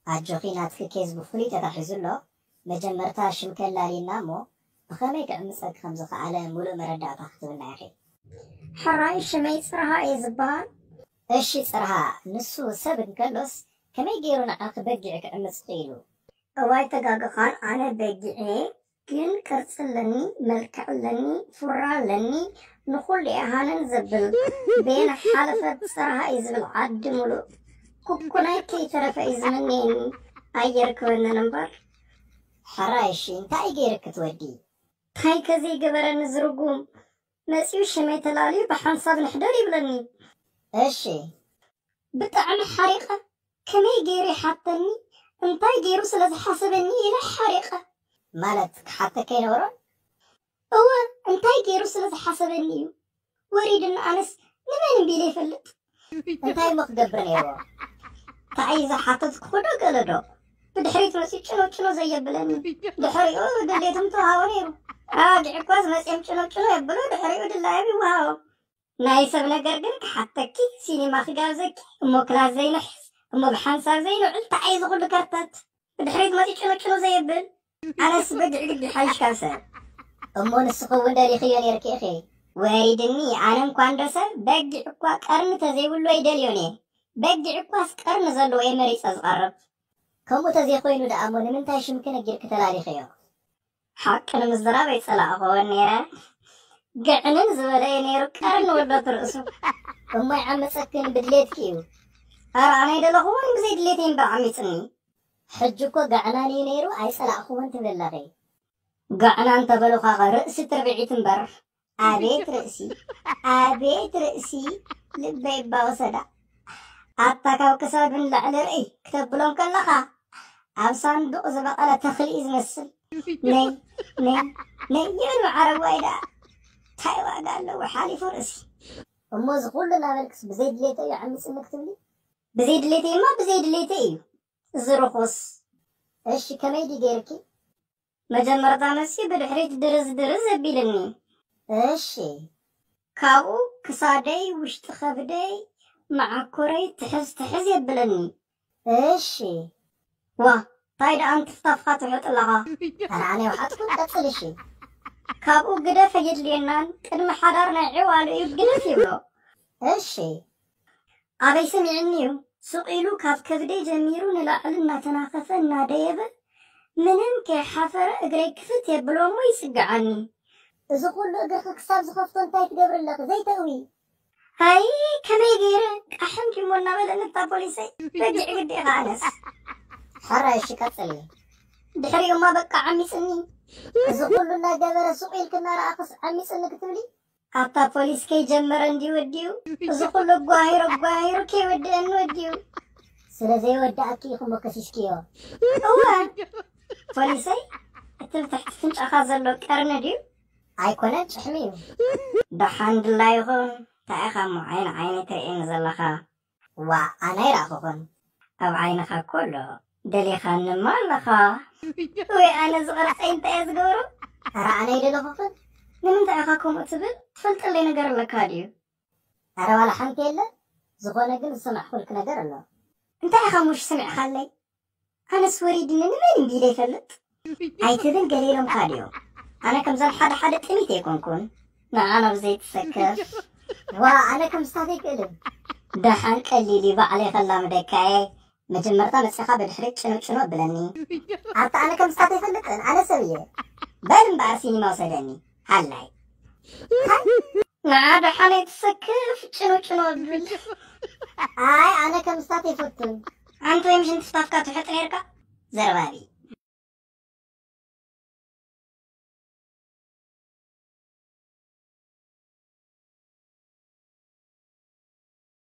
ኣጆኺ፣ ናትኪ ኬዝ ብፍሉይ ተታሒዙ ኣሎ። መጀመርታ ሽምኪ ኣላልይና እሞ ብኸመይ ክዕምጸኪ ከም ዝኸኣለ ሙሉእ መረዳእታ ክትብልና ኢኺ። ሕራይ፣ ሽመይ ጽርሃ እየ ዝበሃል። እሺ ጽርሃ፣ ንሱ ሰብ እንከሎስ ከመይ ገይሩ ንዓኺ በጊዕ ክዕምጽ ክኢሉ? እዋይ ተጋግኻን፣ ኣነ በጊዕ እየ፣ ግን ቅርጺ ኣለኒ፣ መልክዕ ኣለኒ፣ ፉራ ኣለኒ፣ ንኹሉ እየ ሃነን ዘብል። ቤን ሓለፈት ጽርሃ እዩ ዝብል ዓዲ ሙሉእ። ኩኩናይ ከይተረፈ እዩ ዝምነየኒ። ኣየርክበንን እምበር። ሕራይ እሺ፣ እንታይ ገይርኪ ትወዲ? እንታይ ከዘይገበረኒ ዝርጉም? መጺኡ ሽመይ ተላልዩ ብሓንሳብ ንሕደር ይብለኒ። እሺ። ብጣዕሚ ሓሪቐ። ከመይ ገይሩ ይሓተኒ? እንታይ ገይሩ ስለ ዝሓሰበኒ ኢለ ሓሪቐ። ማለት ክሓተኪ ኣይነበሮን? እወ፣ እንታይ ገይሩ ስለ ዝሓሰበኒ እዩ። ወሪድና ኣነስ ንመን እምቢ ኢለ ይፈልጥ። እንታይ እሞ ክገብር ነይርዎ? እንታይ ዝሓተትኩ ዶ ገለ ዶ? ብድሕሪት መፂኡ ጭኖ ጭኖ ዘየብለኒ። ድሕሪኡ ድሌቶም ተዋሃቦ ነይሩ። ኣባጊዕ እኳ ዝመፅኦም ጭኖ ጭኖ የብሎ፣ ድሕሪኡ ድላዮም ይወሃቦም። ናይ ሰብ ነገር ግን ክሓተኪ፣ ሲኒማ ክጋብዘኪ፣ እሞ ክላስ ዘይንሕዝ፣ እሞ ብሓንሳብ ዘይንውዕል፣ እንታይ እዩ ዝኹሉ ከርተት? ብድሕሪት መፂኡ ጭኖ ጭኖ ዘየብል። ኣነስ በጊዕ ግዲ ሓይሽ ካብ ሰብ። እሞ ንስኺ እውን ደሊኽዮ ነይርኪ ኢኺ። ወሪድኒ፣ ኣነ እንኳ እንዶ ሰብ በጊዕ እኳ ቀርኒ ተዘይብሉ ኣይደልዮን እየ። በጊዕ እኳስ ቀርኒ ዘለዎ እየ መሪጸ ዝቐርብ። ከምኡ ተዘይኮይኑ ደኣ እሞ ንምንታይ ሽምኪ ነጊርኪ ተላሊኽዮ? ሓቂ ንምዝራብ ኣይጸላእኽዎን ነይረ። ግዕንን ዝበለ እዩ ነይሩ ቀርኒ ወዶት ርእሱ። እሞ ይዓመጸክን ብድሌትኪ እዩ። ኣረ ኣነ ኣይደለኽዎን ብዘይ ድሌተይ እምበር ዓሚጽኒ። ሕጂ እኮ ጋዕናን እዩ ነይሩ ኣይጸላእኽዎን ትብሊ ኣለኺ። ጋዕና እንተበሉኻኸ ርእሲ ትርብዒት እምበር። ኣቤት ርእሲ፣ ኣቤት ርእሲ፣ ልበይ እባ ወሰዳ። ኣታ ካብ ክሳዱ ንላዕሊ ርእይ ክተብሎም ከለኻ ኣብ ሳንዱቕ ዝበቐለ ተኽሊ እዩ ዝመስል። ነይ ነይ ነይ ይብል መዓረዋይ ደኣ። እንታይ ዋጋ ኣለዎ ሓሊፉ ርእሲ። እሞ እዚ ኩሉ እናበልክስ ብዘይ ድሌተይ እዩ ዓሚጽኒ ክትብሊ? ብዘይ ድሌተይማ ብዘይ ድሌተይ እዩ። እዚ ርኹስ። እሺ ከመይ ድዩ ገይርኪ? መጀመርታ መሲ ብድሕሪት ድርዝ ድርዝ ኣቢልኒ። እሺ። ካብኡ ክሳደይ፣ ውሽጢ ከብደይ፣ መዓኮረይ ትሕዝ ትሕዝ የብለኒ። እሺ። ዋ፣ ታይ ደኣ እንትፍታፍካ ትውሕጥ ኣለኻ? ኣነ ኣነ ይውሓጥኩ፣ ቀጽል እሺ። ካብኡ ግደፍ ኣየድልየናን፣ ቅድሚ ሓዳር ናይ ዕዋሉ እዩ ግደፍ ይብሎ። እሺ። ኣበይ ሰሚዕኒ እዩ? ሱቕ ኢሉ ካብ ከብደይ ጀሚሩ ንላዕሊ እናተናኸፈ እናደየበ ምንም ከይሓፈረ እግረይ ክፍት የብሎ እሞ ይጽግዓኒ። እዚ ኩሉ እግርኺ ክሳብ ዝኸፍቶ እንታይ ትገብሪ ኣለኺ? ዘይተእዊ። ኣይ ከመይ ገይረ ቃሕም ዲሞ እናበለኒ እታ ፖሊሰይ በጊዕ ግዲ ኢኻ ኣነስ። ሕራይ እሺ ቀጽሊ። ድሕሪኡማ በቃ ዓሚጽኒ። እዚ ኩሉ እናገበረ ሱቕ ኢልኪ እናረኣኽስ ዓሚጽኒ ክትብሊ? ኣታ ፖሊስ ከይጀመረ እንዲ ወዲኡ እዚ ኩሉ ኣጓሂሩ ኣጓሂሩ ከይወድአኒ ወዲኡ። ስለ ዘይወድኣኪ ኢኹሞ ከሲስክዮ። እወ ፖሊሰይ፣ እቲ ብትሕቲ ፍንጫኻ ዘሎ ቀርኒ ድዩ? ኣይኮነን፣ ጭሕሚ እዩ። ደሓን ድላ ይኹን። እንታይ ኢኻ እሞ ዓይኒ ዓይኒ ትርእየኒ ዘለኻ? ዋ ኣነ ኣይረኣኹኹን። ኣብ ዓይንኻ እኮ ኣሎ። ደሊኻንማ ኣለኻ። ወይ ኣነ ዝቐርፀይ እንታይ እየ ዝገብሮ? ኣረ ኣነ ኣይደለኹኽን። ንምንታይ ኢኻ ከምኡ ትብል? ትፈልጠለይ ነገር ኣለካ ድዩ? ኣረ ዋላ ሓንቲ የለ። ዝኾነ ግን ዝሰማዕኩልክ ነገር ኣሎ። እንታይ ኢኻ ሙሽ ስሚዕኻለይ? ኣነስ ወሪድኒ ንመን እምቢ ኢለ ይፈልጥ? ኣይትብል ገለ ኢሎምካ ድዮም? ኣነ ከምዞም ሓደ ሓደ ጥሚት ኣይኮንኩን። ንዓ ናብ ዘይትሰከፍ። ዋ ኣነ ከም ስታት ኣይክእልን። ደሓን ቀሊል እዩ ባዕለይ ከላምደካ እየ። መጀመርታ መጺኻ ብድሕሪት ጭኖ ጭኖ ብለኒ። ኣታ ኣነ ከም ስታት ኣይፈልጥን ኣነ ሰብ እየ። በል እምበኣር ሲኒማ ውሰደኒ። ሃላይ። ንዓ ደሓን ኣይትሰክፍ ጭኖ ጭኖ ብል። ኣይ ኣነ ከም ስታት ኣይፈቱን። ኣንተ ወይ ምሽ እንትፍታፍካ ትውሕጥ ነርካ? ዘረባቢ።